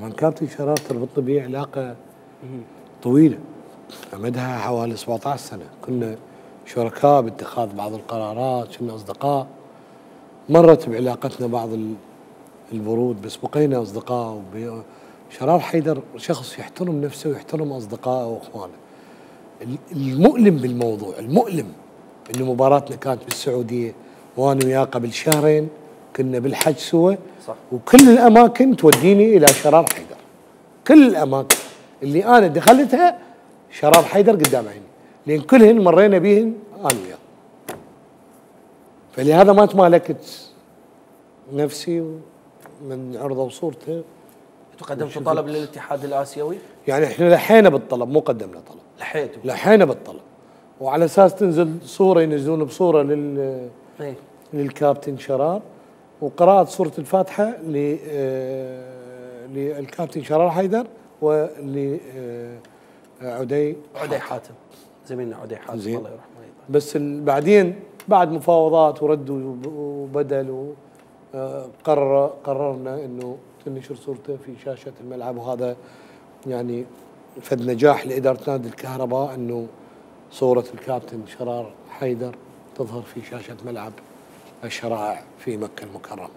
طبعا كابتن شرار تربطني به علاقه طويله مدها حوالي 17 سنه، كنا شركاء باتخاذ بعض القرارات، كنا اصدقاء. مرت بعلاقتنا بعض البرود بس بقينا اصدقاء. شرار حيدر شخص يحترم نفسه ويحترم اصدقائه واخوانه. المؤلم بالموضوع، المؤلم انه مباراتنا كانت بالسعوديه وانا وياه قبل شهرين كنا بالحج سوا، صح. وكل الاماكن توديني الى شرار حيدر، كل الاماكن اللي انا دخلتها شرار حيدر قدام عيني، لان كلهن مرينا بهن انا وياه. فلهذا ما تمالكت نفسي من عرضه وصورته. انتم قدمتوا طلب للاتحاد الاسيوي؟ يعني احنا لحينا بالطلب، مو قدمنا طلب. لحينا بالطلب، وعلى اساس تنزل صوره، ينزلون بصوره للكابتن شرار، وقراءة سورة الفاتحة للكابتن شرار حيدر ولعدي حاتم، زميلنا عدي حاتم الله يرحمه. بس بعدين بعد مفاوضات ورد وبدل قررنا انه تنشر صورته في شاشة الملعب، وهذا يعني فد نجاح لإدارة نادي الكهرباء انه صورة الكابتن شرار حيدر تظهر في شاشة ملعب الشرائع في مكة المكرمة.